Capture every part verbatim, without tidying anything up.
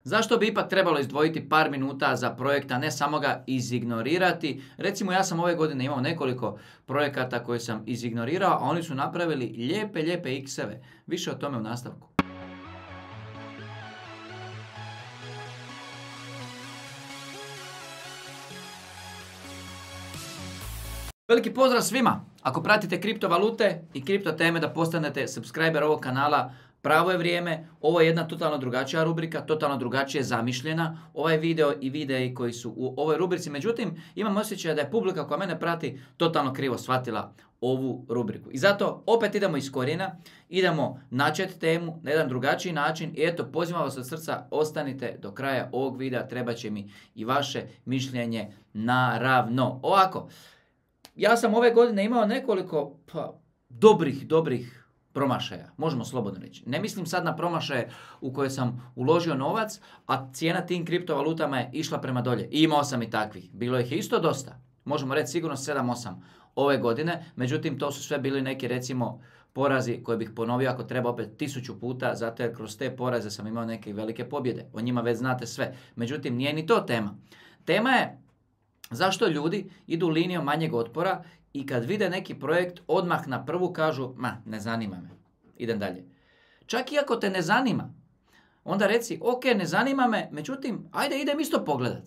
Zašto bi ipak trebalo izdvojiti par minuta za projekt, a ne samo ga izignorirati? Recimo, ja sam ove godine imao nekoliko projekata koje sam izignorirao, a oni su napravili lijepe, lijepe ikseve. Više o tome u nastavku. Veliki pozdrav svima! Ako pratite kriptovalute i kripto teme da postanete subscriber ovog kanala, pravo je vrijeme. Ovo je jedna totalno drugačija rubrika, totalno drugačije zamišljena. Ovaj video i videi koji su u ovoj rubrici. Međutim, imam osjećaj da je publika koja mene prati totalno krivo shvatila ovu rubriku. I zato opet idemo iz korijena, idemo načeti temu na jedan drugačiji način. I eto, pozivam vas od srca, ostanite do kraja ovog videa, treba će mi i vaše mišljenje naravno. Ovako, ja sam ove godine imao nekoliko pa, dobrih, dobrih promašaja, možemo slobodno reći. Ne mislim sad na promašaje u koje sam uložio novac, a cijena tim kriptovalutama je išla prema dolje. I imao sam i takvih. Bilo ih je isto dosta. Možemo reći sigurno sedam osam ove godine. Međutim, to su sve bili neki, recimo, porazi koje bih ponovio ako treba opet tisuću puta, zato jer kroz te poraze sam imao neke velike pobjede. O njima već znate sve. Međutim, nije ni to tema. Tema je zašto ljudi idu linijom manjeg otpora i kad vide neki projekt odmah na prvu kažu, ma, ne zanima me, idem dalje. Čak i ako te ne zanima, onda reci, ok, ne zanima me, međutim, ajde idem isto pogledat.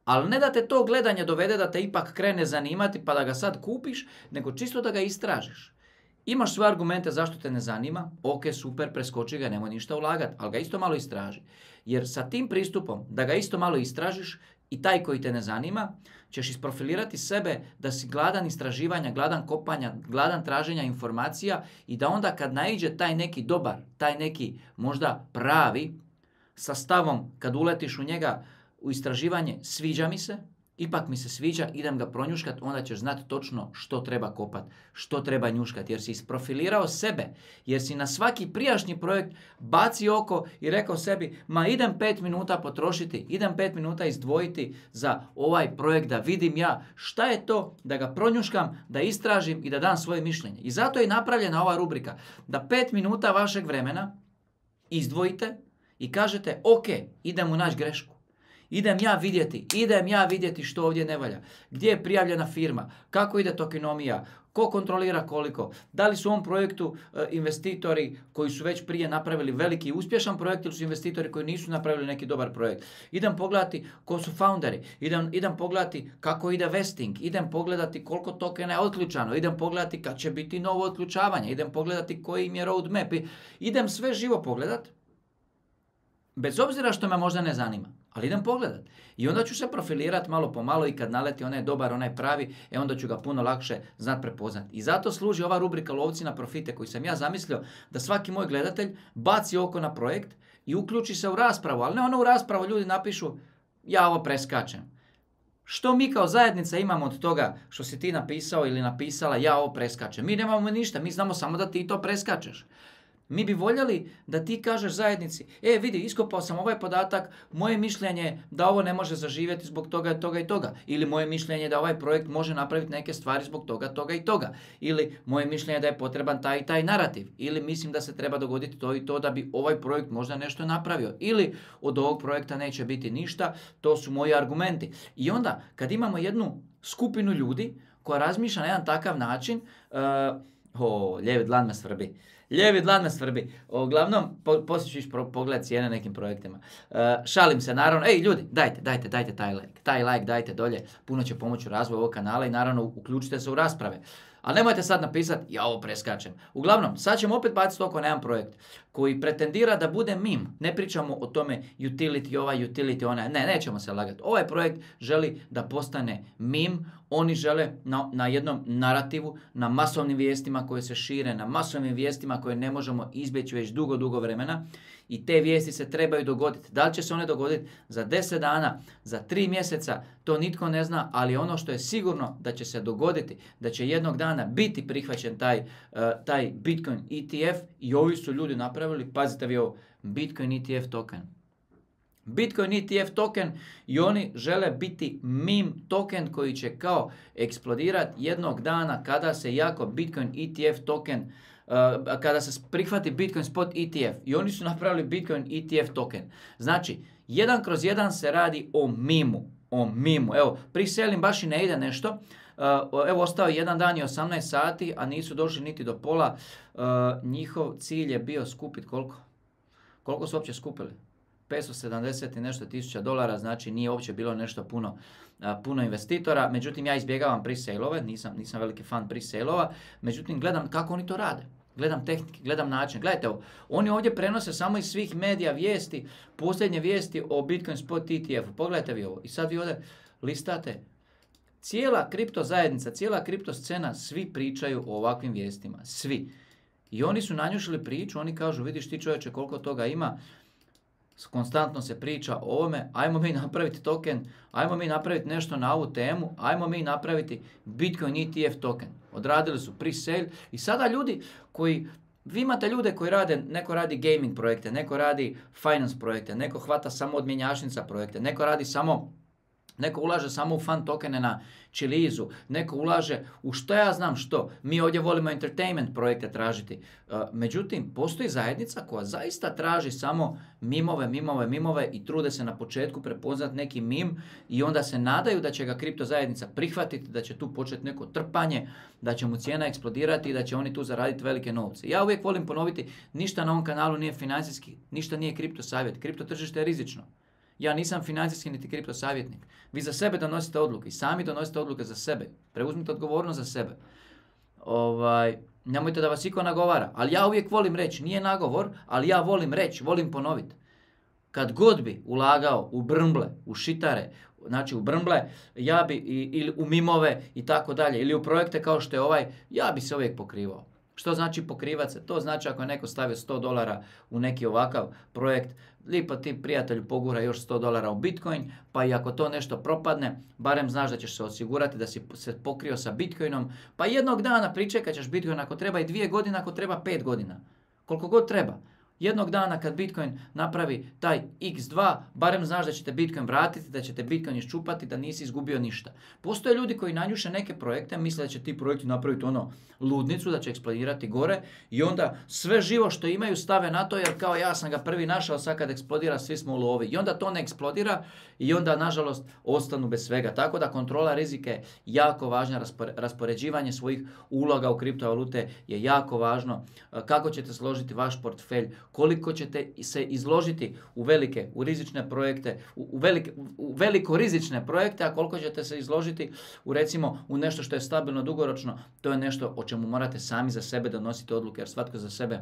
Ali ne da te to gledanje dovede da te ipak krene zanimati pa da ga sad kupiš, nego čisto da ga istražiš. Imaš svoje argumente zašto te ne zanima, ok, super, preskoči ga, nemoj ništa ulagati, ali ga isto malo istraži. Jer sa tim pristupom da ga isto malo istražiš, i taj koji te ne zanima, ćeš isprofilirati sebe da si gladan istraživanja, gladan kopanja, gladan traženja informacija i da onda kad naiđe taj neki dobar, taj neki možda pravi, sa stavom kad uletiš u njega u istraživanje, sviđa mi se, ipak mi se sviđa, idem ga pronjuškat, onda ćeš znati točno što treba kopat, što treba njuškat, jer si isprofilirao sebe, jer si na svaki prijašnji projekt bacio oko i rekao sebi, ma idem pet minuta potrošiti, idem pet minuta izdvojiti za ovaj projekt da vidim ja šta je to, da ga pronjuškam, da istražim i da dam svoje mišljenje. I zato je napravljena ova rubrika, da pet minuta vašeg vremena izdvojite i kažete, ok, idem u naći grešku. Idem ja vidjeti, idem ja vidjeti što ovdje ne valja. Gdje je prijavljena firma, kako ide tokenomija, ko kontrolira koliko, da li su u ovom projektu e, investitori koji su već prije napravili veliki i uspješan projekt ili su investitori koji nisu napravili neki dobar projekt. Idem pogledati ko su founderi, idem, idem pogledati kako ide vesting, idem pogledati koliko tokena je otključano, idem pogledati kad će biti novo otključavanje, idem pogledati koji im je roadmap, idem sve živo pogledati. Bez obzira što me možda ne zanima, ali idem pogledat. I onda ću se profilirati malo po malo i kad naleti onaj dobar, onaj pravi, e onda ću ga puno lakše znat prepoznat. I zato služi ova rubrika Lovci na profite koju sam ja zamislio da svaki moj gledatelj baci oko na projekt i uključi se u raspravu, ali ne ono u raspravu ljudi napišu ja ovo preskačem. Što mi kao zajednica imamo od toga što si ti napisao ili napisala ja ovo preskačem? Mi nemamo ništa, mi znamo samo da ti to preskačeš. Mi bi voljeli da ti kažeš zajednici, e vidi, iskopao sam ovaj podatak, moje mišljenje je da ovo ne može zaživjeti zbog toga, toga i toga. Ili moje mišljenje je da ovaj projekt može napraviti neke stvari zbog toga, toga i toga. Ili moje mišljenje je da je potreban taj i taj narativ. Ili mislim da se treba dogoditi to i to da bi ovaj projekt možda nešto napravio. Ili od ovog projekta neće biti ništa, to su moji argumenti. I onda kad imamo jednu skupinu ljudi koja razmišlja na jedan takav način, uh, o, lijevi dlan me svrbi. Lijevi dlan me svrbi. Uglavnom, po, poslije ću pogledati cijene nekim projektima. Uh, šalim se, naravno. Ej, ljudi, dajte, dajte, dajte taj like. Taj like dajte dolje. Puno će pomoći u razvoju ovog kanala i naravno uključite se u rasprave. Ali nemojte sad napisati, ja ovo preskačem. Uglavnom, sad ćemo opet baciti oko na jedan projekt koji pretendira da bude meme. Ne pričamo o tome utility ovaj, utility onaj. Ne, nećemo se lagati. Ovaj projekt želi da postane meme. Oni žele na, na jednom narativu, na masovnim vijestima koje se šire, na masovnim vijestima koje ne možemo izbjeći već dugo, dugo vremena. I te vijesti se trebaju dogoditi. Da li će se one dogoditi za deset dana, za tri mjeseca, to nitko ne zna, ali ono što je sigurno da će se dogoditi, da će jednog dana biti prihvaćen taj, uh, taj Bitcoin E T F i ovi su ljudi napravili, pazite vi ovo, Bitcoin E T F token. Bitcoin E T F token i oni žele biti meme token koji će kao eksplodirati jednog dana kada se jako Bitcoin E T F token kada se prihvati Bitcoin Spot E T F i oni su napravili Bitcoin E T F token. Znači, jedan kroz jedan se radi o mimu. O mimu. Evo, pre-selling baš i ne ide nešto. Uh, evo, ostao je jedan dan i osamnaest sati, a nisu došli niti do pola. Uh, njihov cilj je bio skupiti koliko? Koliko su uopće skupili? petsto sedamdeset i nešto tisuća dolara, znači nije uopće bilo nešto puno, uh, puno investitora. Međutim, ja izbjegavam pre-sale-ove, nisam, nisam veliki fan pre-sale-ova. Međutim, gledam kako oni to rade. Gledam tehnike, gledam način. Gledajte ovo, oni ovdje prenose samo iz svih medija vijesti, posljednje vijesti o Bitcoin Spot E T F-u. Pogledajte vi ovo. I sad vi ovdje listate. Cijela kripto zajednica, cijela kripto scena, svi pričaju o ovakvim vijestima. Svi. I oni su nanjušili priču, oni kažu, vidiš ti čovječe koliko toga ima, konstantno se priča o ovome, ajmo mi napraviti token, ajmo mi napraviti nešto na ovu temu, ajmo mi napraviti Bitcoin E T F token. Odradili su pre-sale i sada ljudi koji, vi imate ljude koji rade, neko radi gaming projekte, neko radi finance projekte, neko hvata samo od mjenjačnica projekte, neko radi samo, neko ulaže samo u fan tokene na Chilizu, neko ulaže u što ja znam što. Mi ovdje volimo entertainment projekte tražiti. Međutim, postoji zajednica koja zaista traži samo mimove, mimove, mimove i trude se na početku prepoznat neki mim i onda se nadaju da će ga kripto zajednica prihvatiti, da će tu početi neko trpanje, da će mu cijena eksplodirati i da će oni tu zaraditi velike novce. Ja uvijek volim ponoviti, ništa na ovom kanalu nije financijski, ništa nije kripto savjet. Kripto tržište je rizično. Ja nisam financijski niti kripto savjetnik. Vi za sebe donosite odluke i sami donosite odluke za sebe. Preuzmite odgovornost za sebe. Ovaj, nemojte da vas iko nagovara. Ali ja uvijek volim reći, nije nagovor, ali ja volim reći, volim ponoviti. Kad god bi ulagao u brmble, u šitare, znači u brmble, ja bi, ili u mimove i tako dalje, ili u projekte kao što je ovaj, ja bi se uvijek pokrivao. Što znači pokrivati se? To znači ako je neko stavio sto dolara u neki ovakav projekt, lipo ti prijatelju pogura još sto dolara u Bitcoin, pa i ako to nešto propadne, barem znaš da ćeš se osigurati da si se pokrio sa Bitcoinom, pa jednog dana pričekat ćeš Bitcoin ako treba i dvije godine, ako treba pet godina. Koliko god treba. Jednog dana kad Bitcoin napravi taj iks dva, barem znaš da ćete Bitcoin vratiti, da ćete Bitcoin iščupati, da nisi izgubio ništa. Postoje ljudi koji nanjuše neke projekte, misle da će ti projekti napraviti ono ludnicu, da će eksplodirati gore i onda sve živo što imaju stave na to jer kao ja sam ga prvi našao, sad kad eksplodira svi smo u lovi. I onda to ne eksplodira i onda nažalost ostanu bez svega. Tako da kontrola rizika je jako važna, raspoređivanje svojih uloga u kriptovalute je jako važno. Kako ćete složiti vaš portfelj, koliko ćete se izložiti u velike, u rizične projekte, u, u, velike, u veliko rizične projekte, a koliko ćete se izložiti u recimo u nešto što je stabilno dugoročno, to je nešto o čemu morate sami za sebe donositi odluke, jer svatko za sebe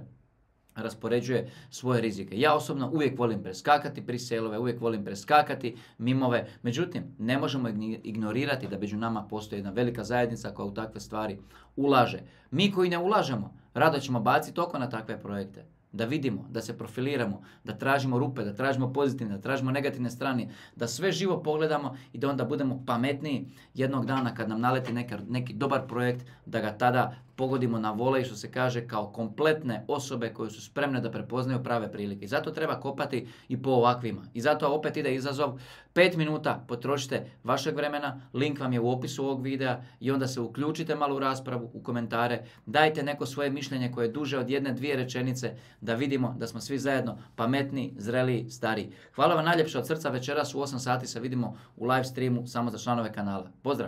raspoređuje svoje rizike. Ja osobno uvijek volim preskakati pre-sale-ove, uvijek volim preskakati mimove, međutim ne možemo ignorirati da među nama postoji jedna velika zajednica koja u takve stvari ulaže. Mi koji ne ulažemo, rado ćemo baciti oko na takve projekte. Da vidimo, da se profiliramo, da tražimo rupe, da tražimo pozitivne, da tražimo negativne strane, da sve živo pogledamo i da onda budemo pametniji jednog dana kad nam naleti neka, neki dobar projekt, da ga tada pogodimo na volej, što se kaže, kao kompletne osobe koje su spremne da prepoznaju prave prilike. I zato treba kopati i po ovakvima. I zato opet ide izazov, pet minuta potrošite vašeg vremena, link vam je u opisu ovog videa i onda se uključite malo u raspravu, u komentare, dajte neko svoje mišljenje koje je duže od jedne, dvije rečenice, da vidimo da smo svi zajedno pametni, zreli, stari. Hvala vam najljepše od srca, večeras u osam sati se vidimo u live streamu samo za članove kanala. Pozdrav!